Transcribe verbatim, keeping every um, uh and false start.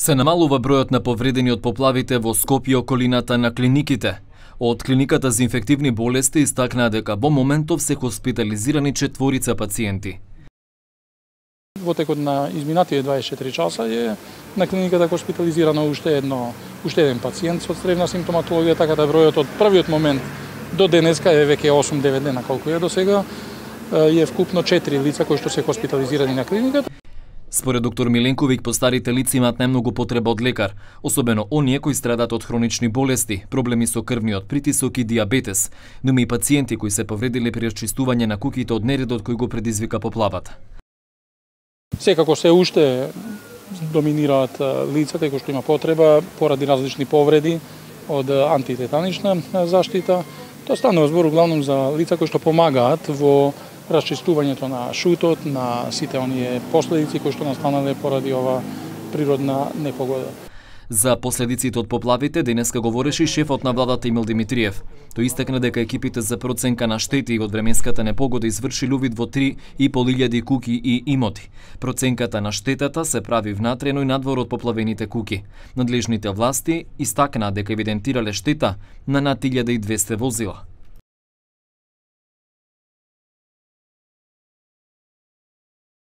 Се намалува бројот на повредени од поплавите во Скопје и околината на клиниките. Од клиниката за инфективни болести истакнаа дека во моментов се хоспитализирани четворица пациенти. Во текот на изминатите дваесет и четири часа е на клиниката хоспитализирано уште едно уште еден пациент со цревна симптоматологија, така да бројот од првиот момент до денеска е веќе осум-девет дена колку е до сега, е вкупно четири лица кои што се хоспитализирани на клиниката. Според доктор Миленковиќ, постарите лица имаат најмногу потреба од лекар, особено оние кои страдаат од хронични болести, проблеми со крвниот притисок и диабетес, но има и пациенти кои се повредиле при расчистување на куќите од нередот кој го предизвика поплавата. Секако се уште доминираат лицата кои што има потреба поради различни повреди од антитетанична заштита. Тоа станува збор главном за лица кои што помагаат во расчистувањето на шутот, на сите оние последици кои што настанале поради ова природна непогода. За последиците од поплавите денеска говореше и шефот на владата Емил Димитриев. Тој истакна дека екипите за проценка на штети од временската непогода извршиле увид во три и пол илјади куќи и имоти. Проценката на штетата се прави внатрено и надвор од поплавените куќи. Надлежните власти истакнаа дека евидентирале штета на над илјада и двесте возила.